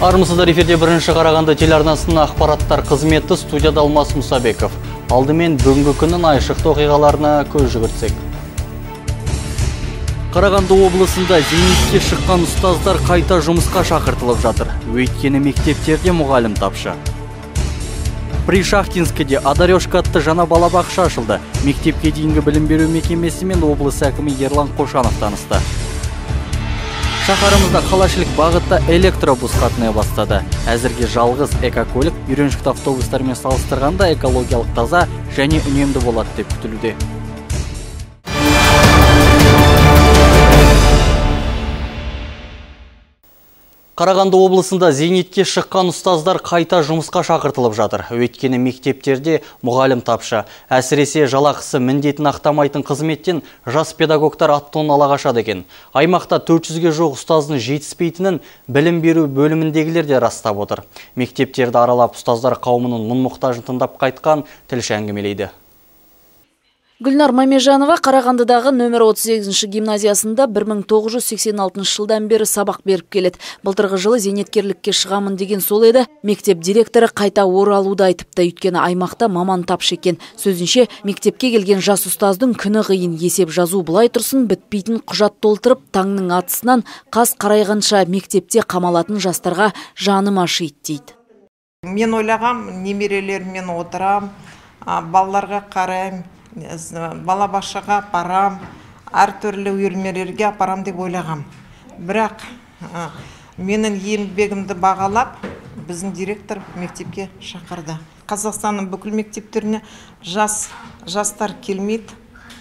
Армысыздар, эфирде бірінші Қарағанды телеарнасының ақпараттар қызметі, студияда Алмас Мұсабеков. Алдымен бүгінгі күннің айшықты оқиғаларына көз жүгіртсек. Қарағанды облысында зейнетке шыққан ұстаздар қайта жұмысқа шақыртылып жатыр. Өйткені мектептерде мұғалім тапшы. Пришахтинскіде Адарешка атты жаңа балабақша ашылды. Мектепке дейінгі білім беру мекемесімен облыс әкімі Ерлан Қошанов танысты. Шаһарымызда қалашылық бағытта электробус қатынай бастады. Әзірге жалғыз экокөлік үйреншікті автобустармен салыстырғанда экологиялық таза және үнемді болады деп күтілуде. Қарағанды облысында зейнетке шыққан ұстаздар қайта жұмысқа шақыртылып жатыр. Өйткені мектептерде мұғалім тапшы. Әсіресе жалақысы міндетін ақтамайтын қызметтен жас педагогтар аттон ала қашады екен. Аймақта 400-ге жоқ ұстаздың жетіспейтінін білім беру бөліміндегілер де растап отыр. Мектептерді аралап ұстаздар қауымының мұң-мұқтажын тыңдап қайтқан тілші әңгімелейді. Гүлнар Мамежанова Қарағандыдағы нөмір 38-ші гимназиясында 1986 жылдан бері сабақ беріп келеді. Былтырғы жылы зейнеткерлікке шығамын деген сол еді. Мектеп директоры қайта оралуды айтыпты, өйткені аймақта маман тапшы екен. Сөзінше, мектепке келген жас ұстаздың күні қиын, есеп жазу былай тұрсын, бітпейтін құжат толтырып, таңның атысынан қас қарайғанша мектепте қамалатын жастарға жаным ашиды дейді. Мен ойлағам, немерелермен отырам, балаларға қарайым, балабақшаға апарам, әртүрлі үйірмелерге апарам деп ойлағам. Бірақ менің еңбегімді бағалап, біздің директор мектепке шақырды. Қазақстанның бүкіл мектептеріне жастар келмейді,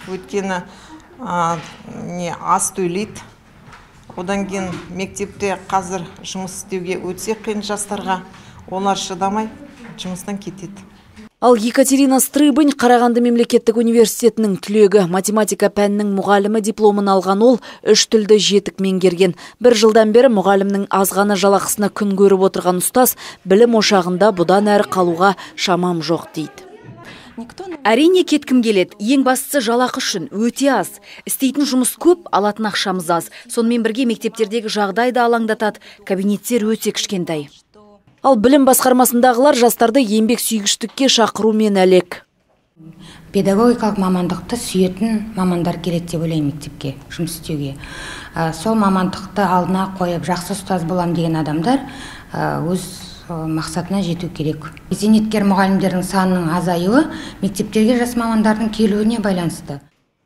өйткені аз төлейді. Одан кейін мектепте қазір жұмыс істеуге өте қиын жастарға, олар шыдамай жұмыстан кетеді. Ал Екатерина Стрыбань Қарағанды мемлекеттік университетінің түлегі, математика пәнінің мұғалімі дипломын алған ол 3 тілді жетік меңгерген. Бір жылдан бері мұғалімнің азғана жалақысына күн көріп отырған ұстаз білім ошағында бұдан әрі қалуға шамам жоқ дейді. Әрине кеткім келеді. Ең бастысы жалақы үшін өте аз. Істейтін жұмыс көп, алатын ақшамыз аз. Сонымен бірге мектептердегі жағдай да алаңдатады. Кабинеттер өте кішкентай. Ал білім басқармасындағылар жастарды еңбек сүйгіштікке шақырумен әлек. Педагогикалық мамандықты сүйетін мамандар келеді деп ойлаймын мектепке жұмыс істеуге. Сол мамандықты алдына қойып жақсы ұстаз болам деген адамдар өз мақсатына жету керек. Зейнеткер мұғалімдердің санының азаюы мектептерге жас мамандардың келуіне байланысты.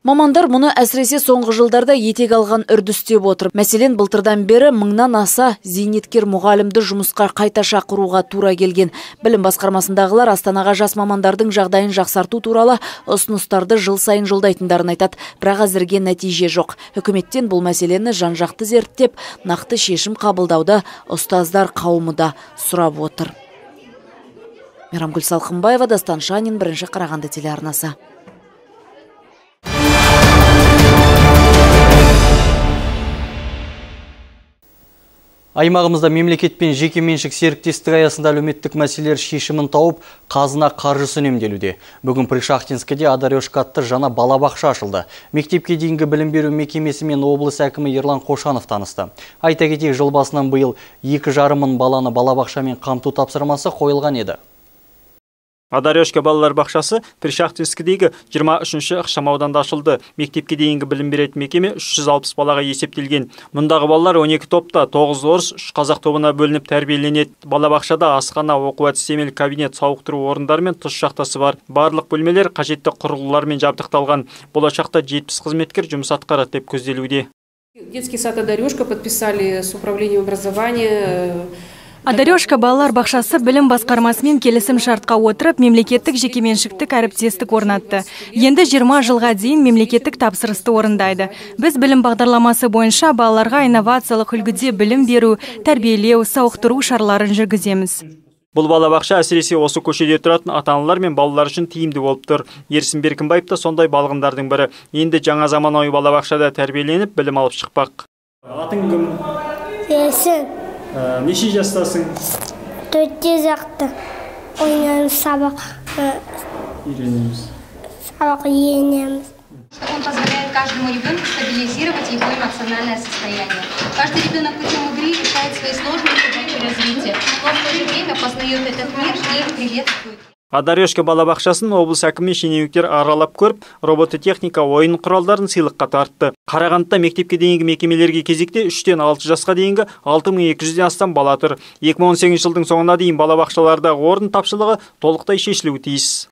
Мамандар мұны әсіресе соңғы жылдарда етек алған үрдістеп отыр. Мәселен, былтырдан бері 1000-нан аса зейнеткер мұғалімді жұмысқа қайта шақыруға тура келген. Білім басқармасындағылар Астанаға жас мамандардың жағдайын жақсарту туралы ұсыныстарды жыл сайын жолдайтындарын айтады. Бірақ әзірге нәтиже жоқ. Үкіметтен бұл мәселені жан-жақты зерттеп, нақты шешім қабылдауды ұстаздар қауымы да сұрап отыр. Мейрамгүл Салқынбаева, Дастан Шанин, бірінші Қарағанды телеарнасы. Аймағымызда мемлекет пен жеке меншік серіктестік аясында әлеуметтік мәселелер шешімін тауып, қазына қаржысы үнемделуде. Бүгін Пришахтинскіде Адарешка атты жаңа балабақша ашылды. Мектепке дейінгі білім беру мекемесімен облыс әкімі Ерлан Қошанов танысты. Айта кетейік, жыл басынан биыл 2,5 мың баланы балабақшамен қамту тапсырмасы қойылған еді. Адарешка балалар бақшасы Пришахтинскідегі 23-ші ықшамауданда ашылды. Мектепке дейінгі білім беретін мекеме 360 балаға есептелген. Мұндағы балалар 12 топта, 9 орыс, 3 қазақ тобына бөлініп тәрбиеленеді. Балабақшада асхана, оқу-әдістемелік кабинет, сауықтыру орындары мен тұз шахтасы бар. Барлық бөлмелер қажетті құрылғылармен жабдықталған. Болашақта 70 қызметкер жұмыс атқарады деп көзделуде. Детский сад Адарешка подписали с управлением образования. Адарешка балалар бақшасы білім басқармасымен келісім шартқа отырып, мемлекеттік жекеменшіктік әріптестік орнатты. Енді 20 жылға дейін мемлекеттік тапсырысты орындайды. Біз білім бағдарламасы бойынша балаларға инновациялық үлгіде білім беру, тәрбиелеу, сауықтыру шараларын жүргіземіз. Бұл балабақша әсіресе осы көшеде тұратын ата-аналар мен балалар үшін тиімді болып тұр. Ерсін Беркінбаев та сондай балғындардың бірі. Енді жаңа заманауи балабақшада тәрбиеленіп, білім алып шықпақ. Атың кім? Ерсін. Неше жастасың? 4-те жақты. Ойнаймыз, сабақ үйренеміз. Он позволяет каждому ребенку стабилизировать его эмоциональное состояние. Каждый ребенок путем игры решает свои сложные задачи развития, но в то же время познает этот мир и приветствует. Адарешка балабақшасын облыс әкімі шенеуніктер аралап көріп, робототехника ойын құралдарын сыйлыққа тартты. Қарағандыда мектепке дейінгі мекемелерге кезекте 3-тен 6 жасқа дейінгі 6200-ден астам бала тұр. 2018 жылдың соңына дейін балабақшалардағы орын тапшылығы толықтай шешілуі тиіс.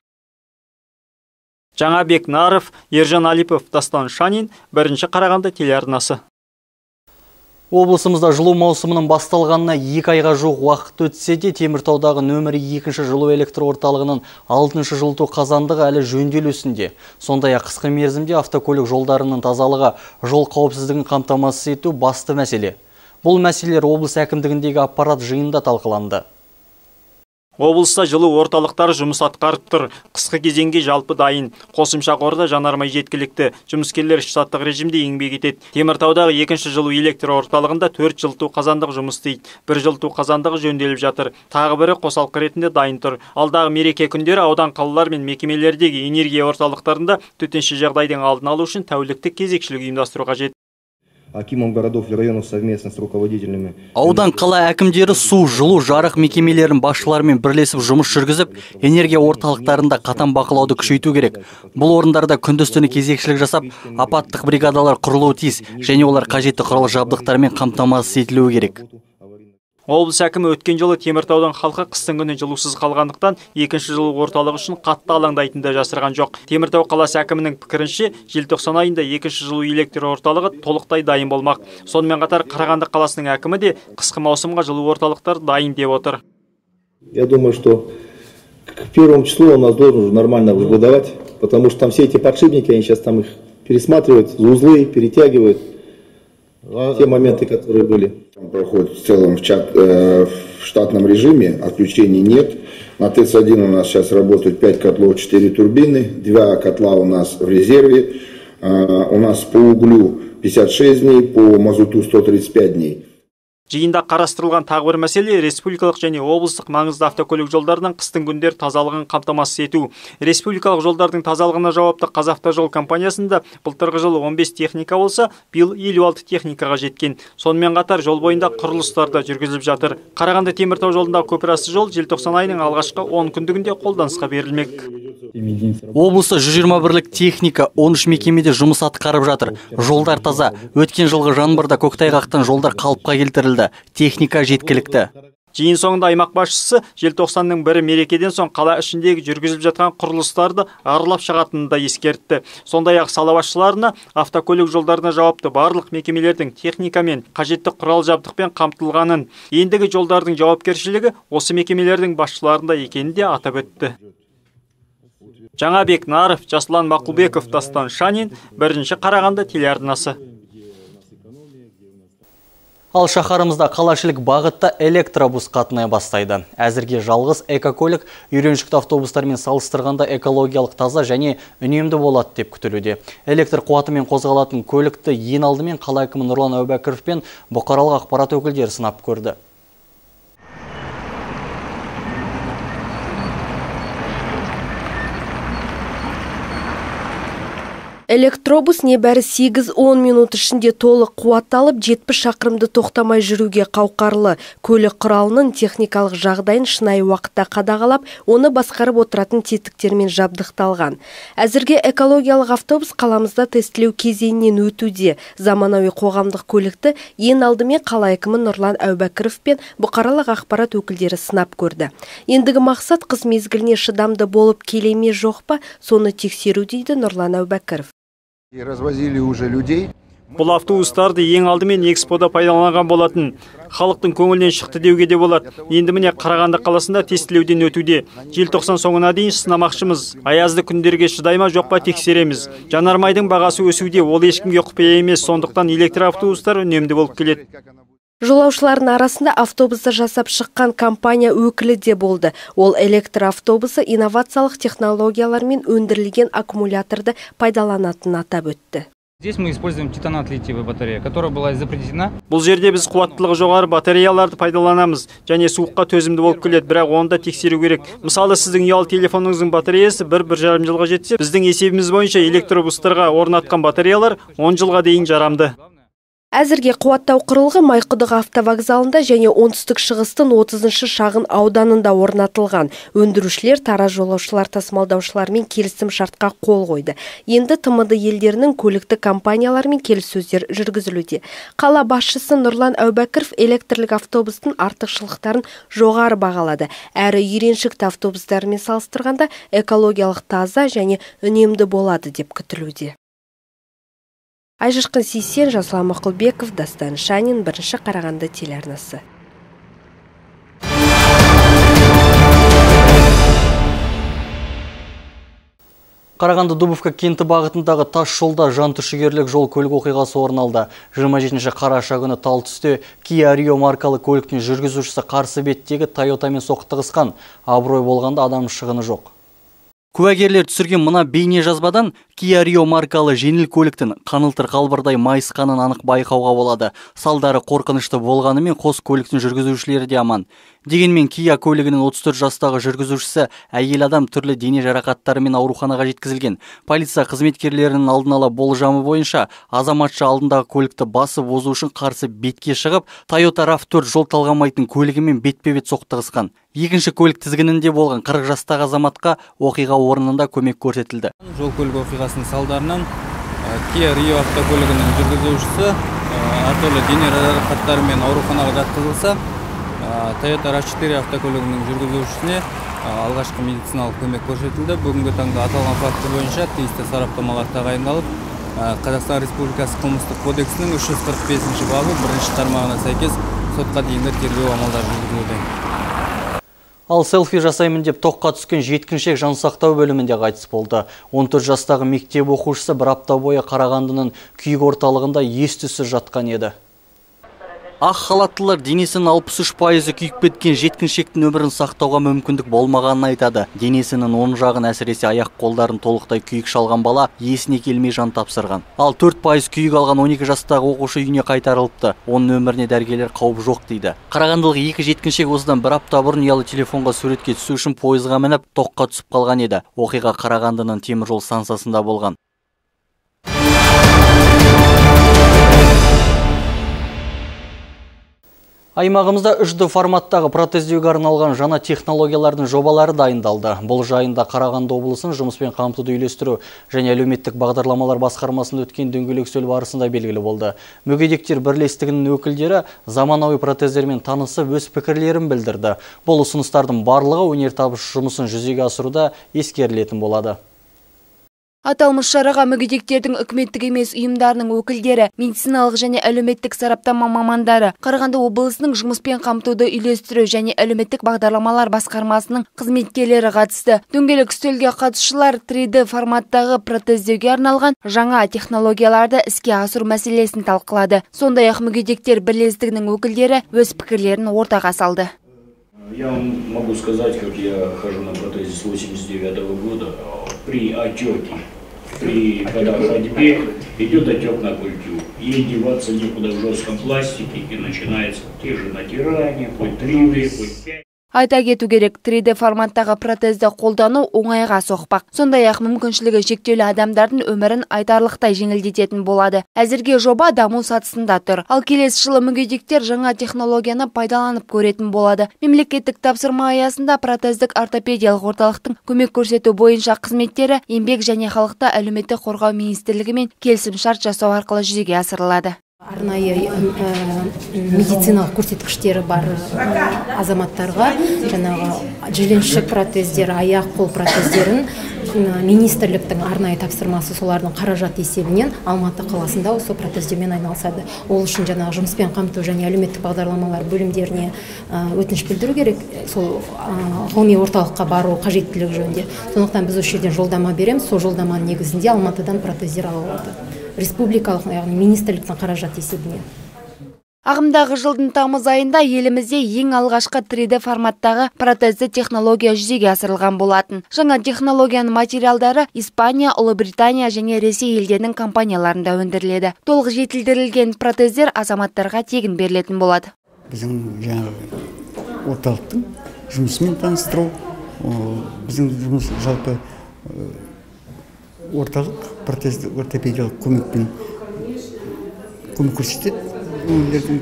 Жаңабек Наров, Ержан Алипов, Дастан Шанин, бірінші Қарағанды телеарнасы. Облысымызда жылу маусымының басталғанына 2 айға жуық уақыт өтсе де, Теміртаудағы нөмірі 2-ші жылу электр орталығының 6-шы жылыту қазандығы әлі жөнделу үстінде. Сондай-ақ қысқы мерзімде автокөлік жолдарының тазалығы, жол қауіпсіздігін қамтамасыз ету басты мәселе. Бұл мәселелер облыс әкімдігіндегі аппарат жиында талқыланды. Облыста жылу орталықтары жұмыс атқарып тұр. Қысқы кезеңге жалпы дайын. Қосымша қорда жанармай жеткілікті. Жұмыскерлер штаттық режимде еңбек етеді. Теміртаудағы 2-ші жылу электр орталығында 4 жылыту қазандығы жұмыс істейді. 1 жылыту қазандығы жөнделіп жатыр. Тағы бірі қосалқы ретінде дайын тұр. Алдағы мереке күндері аудан қалалар мен мекемелердегі энергия орталықтарында төтенше жағдайдың алдын алу үшін тәуліктік кезекшілік ұйымдастыру қажет. Акимов городов и районов совместно с руководителями. Аудан қала әкімдері су, жылу, жарық мекемелерін басшыларымен бірлесіп жұмыс жүргізіп, энергия орталықтарында қатаң бақылауды күшейту керек. Бұл орындарда күндіз-түні кезекшілік жасап, апаттық бригадалар құрылуы тиіс, және олар қажетті құрал жабдықтармен қамтамасыз етілуі керек. Облыс әкімі өткен жылы Теміртаудың халқы қыстың күні жылусыз қалғандықтан 2-ші жылу орталық үшін қатты алаңдайтынды жасырған жоқ. Теміртау қаласы әкімінің пікірінше, желтоқсан айында 2-ші жылу электр орталығы толықтай дайын болмақ. Сонымен қатар Қарағанды қаласының әкімі де қысқы маусымға жылу орталықтар дайын деп отыр. Я думаю, что к 1 числу у нас должен уже нормально выдавать, потому что там все эти подшипники, они сейчас там их пересматривают, узлы перетягивают. Те моменты, которые были. Проходит в целом в штатном режиме, отключений нет. На ТЭЦ-1 у нас сейчас работают 5 котлов, 4 турбины, 2 котла у нас в резерве. У нас по углю 56 дней, по мазуту 135 дней. Жиында қарастырылған тағы бір мәселе республикалық және облыстық маңызды автокөлік жолдарының қыстың күндер тазалығын қамтамасыз ету. Республикалық жолдардың тазалығына жауапты Қазавтожол компаниясында былтырғы жылы 15 техника болса, биыл 56 техникаға жеткен. Сонымен қатар жол бойында құрылыстар да жүргізіліп жатыр. Қарағанды Теміртау жолындағы көпірасты жол желтоқсан айының алғашқы 10 күндігінде қолданысқа берілмек. Облыста 121-лік техника 13 мекемеде жұмыс атқарып жатыр. Жолдар таза. Өткен жылғы жаңбырда көктайғақтан жолдар қалыпқа келтірілді. Техника жеткілікті. Жиын соңында аймақ басшысы желтоқсанның 1 мерекеден соң қала ішіндегі жүргізіліп жатқан құрылыстарды аралап шығатынын да ескертті. Сондай-ақ сала басшыларына автокөлік жолдарына жауапты барлық мекемелердің техникамен, қажетті құрал жабдықпен қамтылғанын, ендігі жолдардың жауапкершілігі осы мекемелердің басшыларында екенін де атап өтті. Жаңабек Наров, Жаслан Мақұлбеков, Дастан Шанин, бірінші Қарағанды телеарнасы. Ал шаһарымызда қалашылық бағытта электробус қатынай бастайды. Әзірге жалғыз экокөлік үйреншікті автобустармен салыстырғанда экологиялық таза және үнемді болады деп күтілуде. Электр қуатымен қозғалатын көлікті ең алдымен қала әкімі Нұрлан Әубәкіров пен бұқаралық ақпарат өкілдері сынап көрді. Электробус небәрі 8-10 минут ішінде толық қуатталып, 70 шақырымды тоқтамай жүруге қауқарлы. Көлік құралының техникалық жағдайын шынайы уақытта қадағалап, оны басқарып отыратын тетіктермен жабдықталған. Әзірге экологиялық автобус қаламызда тестілеу кезеңінен өтуде. Заманауи қоғамдық көлікті ең алдымен қала әкімі Нұрлан Әубәкіров пен бұқаралық ақпарат өкілдері сынап көрді. Ендігі мақсат қыс мезгіліне шыдамды болып келеме жоқ па, соны тексеру дейді Нұрлан Әубәкіров. Развозили уже людей. Бұл автобустарды ең алдымен экспода пайдаланған болатын. Халықтың көңілінен шықты деуге де болады. Енді міне Қарағанды қаласында тестілеуден өтуде. Желтоқсан соңына дейін сынамақшымыз. Аязды күндерге шыдай ма жоқ па тексереміз. Жанармайдың бағасы өсуде, ол ешкімге құпия емес, сондықтан электроавтобустар үнемді болып келеді. Жолаушылардың арасында автобусты жасап шыққан компания өкілі де болды. Ол электроавтобусы инновациялық технологиялармен өндірілген аккумуляторды пайдаланатынын атап өтті. Здесь мы используем титанат-литиевую батарею, которая была изопретена. Бұл жерде біз қуаттылығы жоғары батареяларды пайдаланамыз, және суыққа төзімді болып келеді, бірақ оны да тексеру керек. Мысалы, сіздің ұялы телефоныңыздың батареясы 1-1,5 жылға жетсе, біздің есебіміз бойынша электробустарға орнатқан батареялар 10 жылға дейін жарамды. Әзірге қуаттау құрылғы Майқұдық автовокзалында және оңтүстік шығыстың 30-шы шағын ауданында орнатылған. Өндірушілер тараз жолаушылар тасымалдаушылармен келісім шартқа қол қойды. Енді ТМД елдерінің көліктік компанияларымен келіссөздер жүргізілуде. Қала басшысы Нұрлан Әубәкіров электрлік автобустың артықшылықтарын жоғары бағалады. Әрі үйреншікті автобустармен салыстырғанда экологиялық таза және үнемді болады деп күтілуде. Айжырқын Сейсен, Жасұлан Мақұлбеков, Дастан Шанин, Бірінші Қарағанды телеарнасы. Қарағанды Дубовка кенті бағытындағы тас жолда жан түршігерлік жол көлік оқиғасы орын алды. 27 қараша күні тал түсте Kia Rio маркалы көліктің жүргізушісі қарсы беттегі Toyotамен соқтығысқан. Абырой болғанда адам шығыны жоқ. Куәгерлер түсірген мына бейне жазбадан Kia Rio маркалы жеңіл көліктің қанылтыр қалбырдай майысқанын анық байқауға болады. Салдары қорқынышты болғанымен қос көліктің жүргізушілері де аман. Дегенмен Kia көлігінің 34 жастағы жүргізушісі әйел адам түрлі дене жарақаттарымен ауруханаға жеткізілген. Полиция қызметкерлерінің алдын ала болжамы бойынша азаматша алдындағы көлікті басып озу үшін қарсы бетке шығып, Toyota RAV4 жол талғамайтын көлігімен бетпе-бет соқтығысқан. Екінші көлік тізгінінде болған 40 жастағы азаматқа оқиға орнында көмек көрсетілді. Жол көлік оқиғасының салдарынан Kia Rio автокөлігінің жүргізушісі әртүрлі дене жарақаттарымен ауруханаға жатқызылса, Toyota RAV4 автокөлігінің жүргізушісіне алғашқы медициналық көмек көрсетілді. Бүгінгі таңда аталған факті бойынша тиісті сараптамалар тағайындалып, Қазақстан Республикасы қылмыстық кодексінің 345 бабы 1-ші тармағына сәйкес сотқа дейінгі тергеу амалдары жүргізілуде. Ал селфи жасаймын деп тоққа түскен жеткіншек жансақтау бөлімінде қайтыс болды. 14 жастағы мектеп оқушысы бір апта бойы Қарағандының күйік орталығында ес-түссіз жатқан еді. Ақ халаттылар денесінің 63% күйіп кеткен жеткіншектің өмірін сақтауға мүмкіндік болмағанын айтады. Денесінің оң жағын әсіресе аяқ қолдарын толықтай күйік шалған бала есіне келмей жан тапсырған. Ал 4% күйік алған 12 жастағы оқушы үйіне қайтарылыпты. Оның өміріне дәрігерлер қауіп жоқ дейді. Қарағандылық екі жеткіншек осыдан бір апта бұрын ұялы телефонға суретке түсу үшін пойызға мініп тоққа түсіп қалған еді. Оқиға Қарағандының теміржол станциясында болған. Аймағымызда 3D форматтағы протездеуге арналған жаңа технологиялардың жобалары дайындалды. Бұл жайында Қарағанды облысының жұмыспен қамтуды үйлестіру және әлеуметтік бағдарламалар басқармасында өткен дөңгелек үстел барысында белгілі болды. Мүгедектер бірлестігінің өкілдері заманауи протездермен танысып өз пікірлерін білдірді. Бұл ұсыныстардың барлығы өнертабыс жұмысын жүзеге асыруда ескерілетін болады. Аталмыш шараға мүгедектердің үкіметтік емес ұйымдарының өкілдері, медициналық және әлеуметтік сараптама мамандары, Қарағанды облысының жұмыспен қамтуды үйлестіру және әлеуметтік бағдарламалар басқармасының қызметкерлері қатысты. Дөңгелек үстелге қатысушылар 3D форматтағы протездеуге арналған жаңа технологияларды іске асыру мәселесін талқылады. Сондай-ақ мүгедектер бірлестігінің өкілдері өз пікірлерін ортаға салды. Я вам могу сказать, как я хожу на протезе с 89-го года. При отеке, при ходьбе идет отек на культю. Ей деваться некуда в жестком пластике, и начинается те же натирания, хоть 3D, хоть 5. Айта кету керек, 3D форматтағы протезді қолдану оңайға соқпақ. Сондай-ақ мүмкіншілігі шектеулі адамдардың өмірін айтарлықтай жеңілдететін болады. Әзірге жоба даму сатысында тұр. Ал келесі жылы мүгедектер жаңа технологияны пайдаланып көретін болады. Мемлекеттік тапсырма аясында протездік ортопедиялық орталықтың көмек көрсету бойынша қызметтері еңбек және халықты әлеуметтік қорғау министрлігімен келісім шарт жасау арқылы жүзеге асырылады. Арнайы медициналық көрсеткіштері бар азаматтарға жаңағы жіліншік протездер, аяқ қол протездерін министрліктің арнайы тапсырмасы солардың қаражат есебінен Алматы қаласында осы протездермен айналысады. Ол үшін жаңағы жұмыспен қамту және әлеуметтік бағдарламалар бөлімдеріне өтініш білдіру керек, сол ғылыми орталыққа бару қажеттілігі жөнінде. Сондықтан біз осы жерден жолдама береміз, сол жолдаманың негізінде Алматыдан протездер ала алады. Республикалық, яғни министрліктің қаражат есебінен. Ағымдағы жылдың тамыз айында елімізде ең алғашқы 3D форматтағы протезді технология жүзеге асырылған болатын. Жаңа технологияның материалдары Испания, Ұлыбритания және Ресей елдерінің компанияларында өндіріледі. Толық жетілдірілген протездер азаматтарға тегін берілетін болады. Біздің жаңағы орталықтың жұмысымен таныстыру, біздің жұмыс жалпы орталық протездік ортопедиялық көмекпен көмек көрсетеді өңірлердің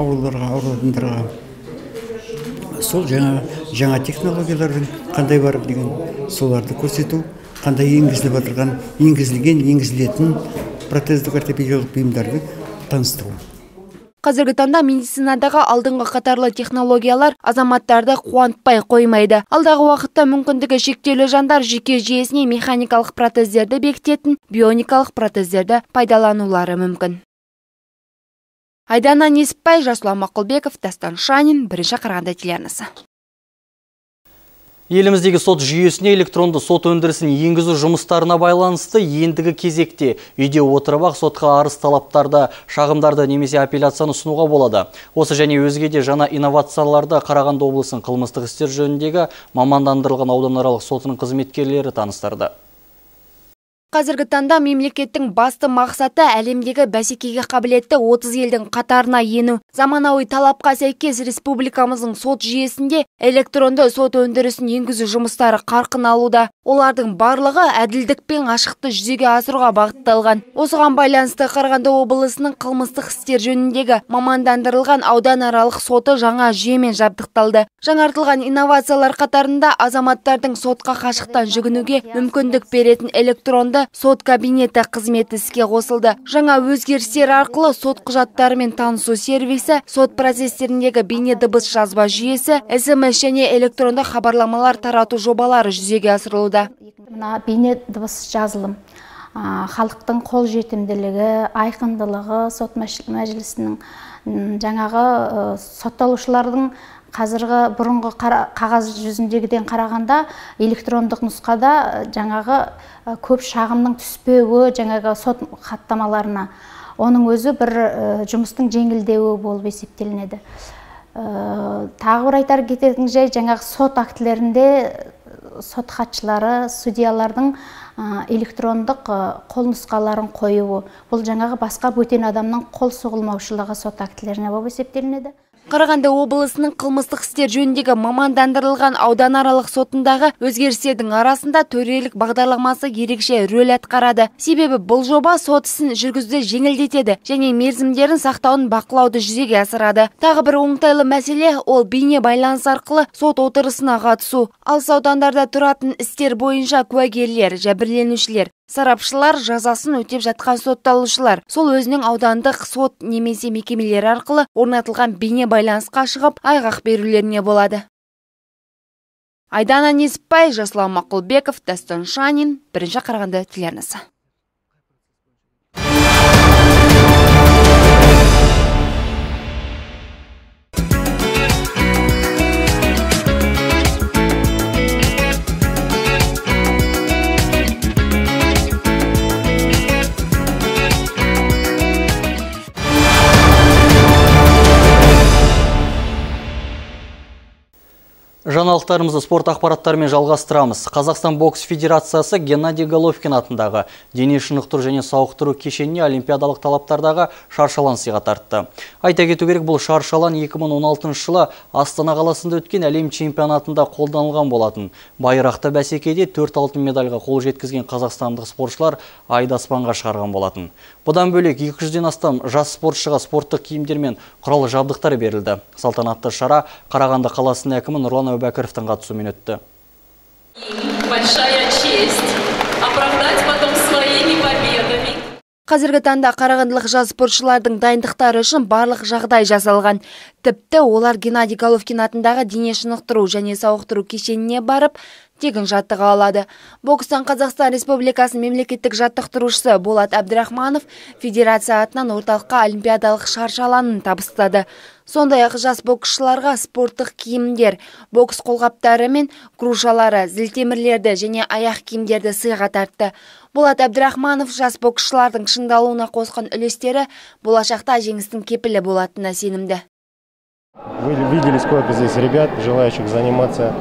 ауырғандарға. Сол жаңа технологиялардың қандай бар деген соларды көрсету, қандай енгізілетін протездік ортопедиялық бұйымдарды таныстыру. Қазіргі таңда медицинадағы алдыңғы қатарлы технологиялар азаматтарды қуантпай қоймайды. Алдағы уақытта мүмкіндігі шектеулі жандар жүйке жүйесіне механикалық протездерді бекітетін бионикалық протездерді пайдаланулары мүмкін. Айдана Несіпбай, Жасұлан Мақұлбеков, Дастан Шанин, Бірінші Қарағанды телеарнасы. Еліміздегі сот жүйесіне электронды сот өндірісін енгізу жұмыстарына байланысты ендігі кезекте үйде отырып ақ сотқа арыз талаптарды, шағымдарды немесе апелляцияны ұсынуға болады. Осы және өзге де жаңа инновацияларды Қарағанды облысының қылмыстық істер жөніндегі мамандандырылған ауданаралық сотының қызметкерлері таныстырды. Қазіргі таңда мемлекеттің басты мақсаты әлемдегі бәсекеге қабілетті 30 елдің қатарына ену. Заманауи талапқа сәйкес республикамыздың сот жүйесінде электронды сот өндірісін енгізу жұмыстары қарқын алуда. Олардың барлығы әділдік пен ашықты жүзеге асыруға бағытталған. Осыған байланысты Қарағанды облысының қылмыстық істер жөніндегі мамандандырылған ауданаралық соты жаңа жүйемен жабдықталды. Жаңартылған инновациялар қатарында азаматтардың сотқа қашықтан жүгінуге мүмкіндік беретін электронды сот кабинеті қызметі іске қосылды. Жаңа өзгерістер арқылы сот құжаттарымен танысу сервисі, сот процестеріндегі бейне дыбыс жазба жүйесі, SMS және электронды хабарламалар тарату жобалары жүзеге асырылуда. Мына бейне дыбыс жазылым халықтың қол жетімділігі, айқындылығы, сот мәжілісінің жаңағы сотталушылардың қазіргі бұрынғы қағаз жүзіндегіден қарағанда электрондық нұсқада жаңағы көп шағымның түспеуі, жаңағы сот хаттамаларына оның өзі бір жұмыстың жеңілдеуі болып есептелінеді. Тағы бір айтар кететін жай, жаңағы сот актілерінде сот хатшылары, судьялардың электрондық қол нұсқаларын қоюы. Бұл жаңағы басқа бөтен адамның қол соғылмаушылығы сот актілеріне болып есептелінеді. Қарағанды облысының қылмыстық істер жөніндегі мамандандырылған ауданаралық сотындағы өзгерістердің арасында төрелік бағдарламасы ерекше рөл атқарады. Себебі бұл жоба сот ісін жүргізуді жеңілдетеді және мерзімдерін сақтауын бақылауды жүзеге асырады. Тағы бір оңтайлы мәселе ол бейне байланыс арқылы сот отырысына қатысу. Алыс аудандарда тұратын істер бойынша куәгерлер, жәбірленушілер, сарапшылар, жазасын өтеп жатқан сотталушылар сол өзінің аудандық сот немесе мекемелер арқылы орнатылған бейне байланысқа шығып айғақ берулеріне болады. Айдана Несіпбай, Жасұлан Мақұлбеков, Дастан Шанин, Бірінші Қарағанды телеарнасы. Жаңалықтарымызды спорт ақпараттарымен жалғастырамыз. Қазақстан бокс федерациясы Геннадий Головкин атындағы дене шынықтыру және сауықтыру кешеніне олимпиадалық талаптардағы шаршалан сыйға тартты. Айта кету керек, бұл шаршалан 2016 жылы Астана қаласында өткен әлем чемпионатында қолданылған болатын. Байрақты бәсекеде 4 алтын медальға қол жеткізген қазақстандық спортшылар айды аспанға шығарған болатын. Бұдан бөлек 200-ден астам жас спортшыға спорттық киімдер мен құрал жабдықтар берілді. Салтанатты шара Қарағанды қаласының әкімі Нұрлан Әубәкіровтің қатысуымен өтті. Большая честь оправдать потом своими победами. Қазіргі таңда қарағандылық жас спортшылардың дайындықтары үшін барлық жағдай жасалған. Тіпті олар Геннадий Головкин атындағы дене шынықтыру және сауықтыру кешеніне барып, тегін жаттыға алады. Бокстан Қазақстан Республикасының мемлекеттік жаттықтырушысы Болат Әбдірахманов федерация атынан орталыққа олимпиадалық шаршаланын табыстады. Сондай-ақ жас боксшыларға спорттық киімдер, бокс қолғаптары мен грушалары, зілтемірлерді және аяқ киімдерді сыйға тартты. Болат Әбдірахманов жас боксшылардың шыңдалуына қосқан үлестері болашақта жеңістің кепілі болатынына сенімді. Вы видели, сколько здесь ребят, желающих заниматься.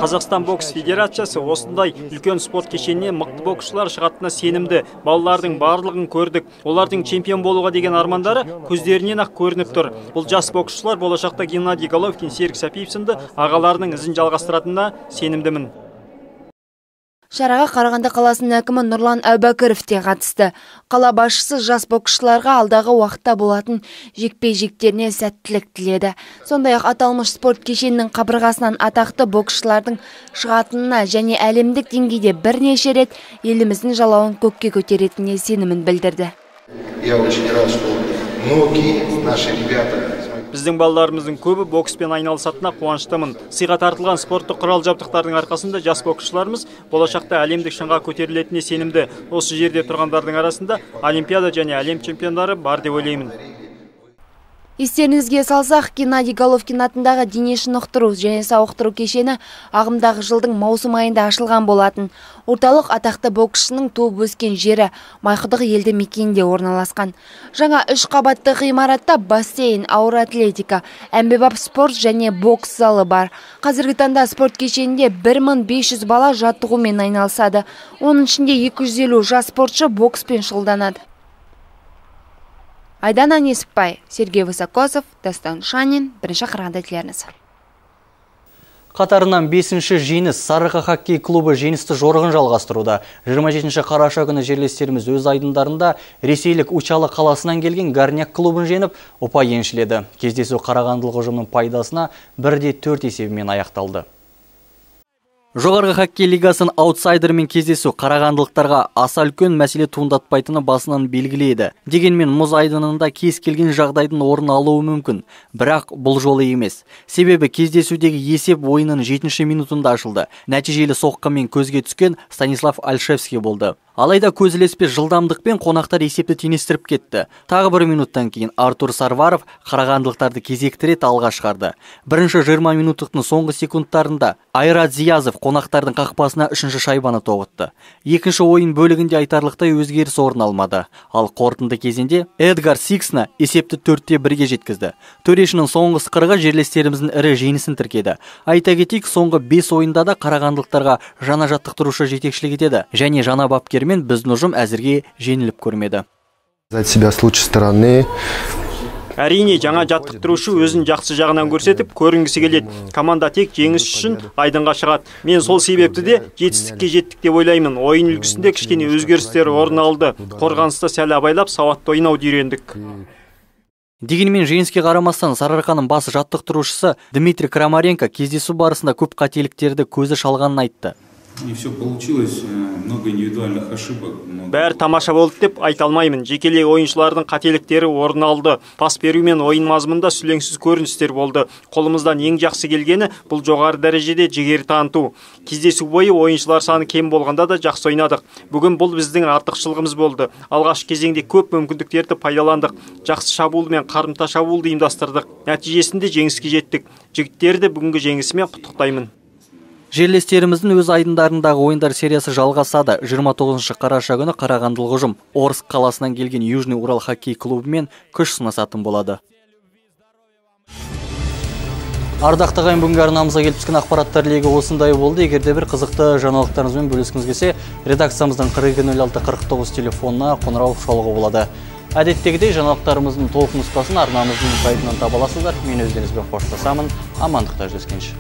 Қазақстан бокс федерациясы осындай үлкен спорт кешеніне мықты боксшылар шығатынына сенімді. Балалардың барлығын көрдік. Олардың чемпион болуға деген армандары көздерінен ақ көрініп тұр. Бұл жас боксшылар болашақта Геннадий Головкин, Серік Сәпиев сынды ағаларының ізін жалғастыратынына сенімдімін. Шараға Қарағанды қаласының әкімі Нұрлан Әубәкіров те қатысты. Қала басшысы жас боксшыларға алдағы уақытта болатын жекпе-жектеріне сәттілік тіледі. Сондай-ақ аталмыш спорт кешенінің қабырғасынан атақты боксшылардың шығатынына және әлемдік деңгейде бірнеше рет еліміздің жалауын көкке көтеретініне сенімін білдірді. Я очень рад, что многие наши ребята. Біздің балаларымыздың көбі бокспен айналысатынына қуаныштымын. Сыйға тартылған спорттық құрал жабдықтардың арқасында жас боксшыларымыз болашақта әлемдік шыңға көтерілетініне сенімді. Осы жерде тұрғандардың арасында Олимпиада және әлем чемпиондары бар деп ойлаймын. Естеріңізге салсақ, Геннадий Головкин атындағы дене шынықтыру және сауықтыру кешені ағымдағы жылдың маусым айында ашылған болатын. Орталық атақты боксшының туып өскен жері Майқұдық елді мекенінде орналасқан. Жаңа 3 қабатты ғимаратта бассейн, ауыр атлетика, әмбебап спорт және бокс залы бар. Қазіргі таңда спорт кешенінде 1500 бала жаттығумен айналысады. Оның ішінде 250 жас спортшы бокспен шұғылданады. Айдана Несіпбай, Сергей Высокосов, Дастан Шанин, бірінші Қарағанды телеарнасы. Қатарынан 5-ші жеңіс Сарыарқа хоккей клубы жеңісті жорығын жалғастыруда. 27 қараша күні жерлестеріміз өз айдындарында ресейлік Учалы қаласынан келген Горняк клубын жеңіп, ұпай еншіледі. Кездесу қарағандылық ұжымның пайдасына 1-4 есебімен аяқталды. Жоғарғы хоккей лигасының аутсайдермен кездесу қарағандылықтарға аса үлкен мәселе туындатпайтыны басынан белгілейді. Дегенмен мұз айдынында кез келген жағдайдың орын алуы мүмкін. Бірақ бұл жолы емес. Себебі кездесудегі есеп ойынның 7-ші минутында ашылды. Нәтижелі соққымен көзге түскен Станислав Альшевский болды. Алайда көзілеспес жылдамдықпен қонақтар есепті теңестіріп кетті. Тағы 1 минуттан кейін Артур Сарваров қарағандылықтарды кезекті рет алға шығарды. Бірінші 20 минуттың соңғы секундтарында Айрат Зиязов қонақтардың қақпасына 3-ші шайбаны тоғытты. Екінші ойын бөлігінде айтарлықтай өзгеріс орын алмады. Ал қорытынды кезеңде Эдгар Сиксна есепті 4-1-ге жеткізді. Төрешінің соңғы ысқырығы жерлестеріміздің ірі жеңісін тіркеді. Айта кетейік, соңғы 5 ойында да қарағандылықтарға жаңа жаттықтырушы жетекшілік етеді және жаңа бапкер біздің ұжым әзірге жеңіліп көрмеді. Себя с лучшей стороны. Әрине, жаңа жаттықтырушы өзін жақсы жағынан көрсетіп, көрінгісі келеді. Команда тек жеңіс үшін айдынға шығады. Мен сол себепті де жетістікке жеттік деп ойлаймын. Ойын үлгісінде кішкене өзгерістер орын алды. Қорғаныста сәл абайлап, сауатты ойнауды үйрендік. Дегенмен жеңіске қарамастан Сарыарқаның бас жаттықтырушысы Дмитрий Крамаренко кездесу барысында көп қателіктерді көзі шалғанын айтты. Не все получилось, много индивидуальных ошибок. Бәрі тамаша болды деп айта алмаймын. Жекелей ойыншылардың қателіктері орын алды. Пас беру мен ойын мазмұнында сүлеңсіз көріністер болды. Қолымыздан ең жақсы келгені бұл жоғары дәрежеде жігер таныту. Кездесу бойы ойыншылар саны кем болғанда да жақсы ойнадық. Бүгін бұл біздің артықшылығымыз болды. Алғашқы кезеңде көп мүмкіндіктерді пайдаландық. Жақсы шабуыл мен қарымта шабуылды ұйымдастырдық. Нәтижесінде жеңіске жеттік. Жігіттерді бүгінгі жеңісімен құттықтаймын. Жерлестеріміздің өз айдындарындағы ойындар сериясы жалғасады. 29 қараша күні қарағандылық ұжым Орск қаласынан келген Южный Урал хоккей клубымен күш сынасатын болады. Ардақты ағайын, бүгінгі арнамызға келіп түскен ақпараттар легі осындай болды. Егерде бір қызықты жаңалықтарыңызбен бөліскіңіз келсе, редакциямыздың 420649 телефонына қоңырау шалуға болады. Әдеттегідей жаңалықтарымыздың толық нұсқасын арнамыздың сайтынан таба аласыздар. Мен өздеріңізбен қоштасамын. Амандықта жүздескенше.